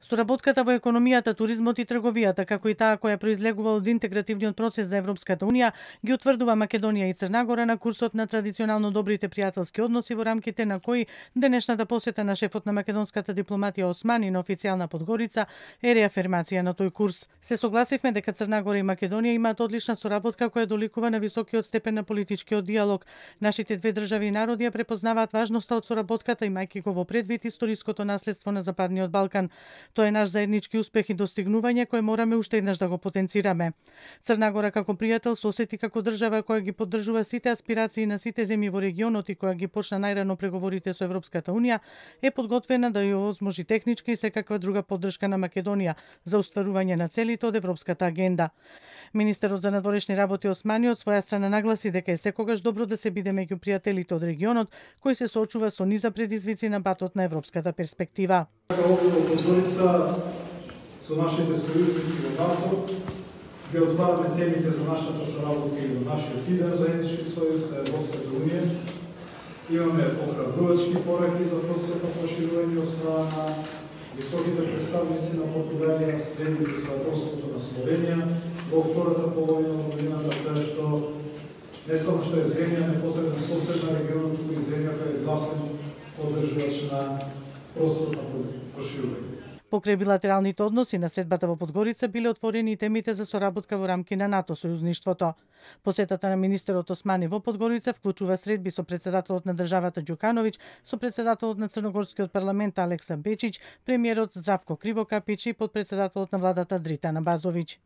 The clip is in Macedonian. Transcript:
Соработката во економијата, туризмот и трговијата, како и таа која произлегува од интегративниот процес за Европската Унија, ги утврдува Македонија и Црна Гора на курсот на традиционално добрите пријателски односи, во рамките на кои денешната посета на шефот на македонската дипломатија Османи на официјална Подгорица е реафирмација на тој курс. Се согласивме дека Црна Гора и Македонија имаат одлична соработка која доликува на високиот степен на политичкиот диалог. Нашите две држави и народи ја препознаваат важноста од соработката, имајќи го во предвид историското наследство на Западниот Балкан. Тоа е наш заеднички успех и достигнување кој мораме уште еднаш да го потенцираме. Црна Гора како пријател се осети како држава која ги поддржува сите аспирации на сите земји во регионот и која ги почна најрано преговорите со Европската Унија, е подготвена да ја овозможи техничка и секаква друга поддршка на Македонија за остварување на целите од европската агенда. Министерот за надворешни работи Османи од своја страна нагласи дека е секогаш добро да се биде меѓу пријателите од регионот кој се соочува со низа предизвици на патот на европската перспектива. Овде во Подгорица со нашите сојузници во НАТО ги отвараме темите за нашата соработка и во нашиот идеен заеднички сојуз кај Европската Унија. Имаме охрабрувачки пораки за процесот на проширување од страна на високите представници на Португалија, следните со посетот на Словенија во втората половина од годината, тоа што не само што е земја непосредна соседна регионот, туку и земја која е гласен поддржувач на процесот на проширување. Покрај билатералните односи на средбата во Подгорица биле отворени и темите за соработка во рамки на НАТО сојузништвото. Посетата на министерот Османи во Подгорица вклучува средби со председателот на државата Ѓукановиќ, со председателот на Црногорскиот парламент Алекса Бечич, премиерот Здравко Кривокапич и подпредседателот на владата Дритана Базовиќ.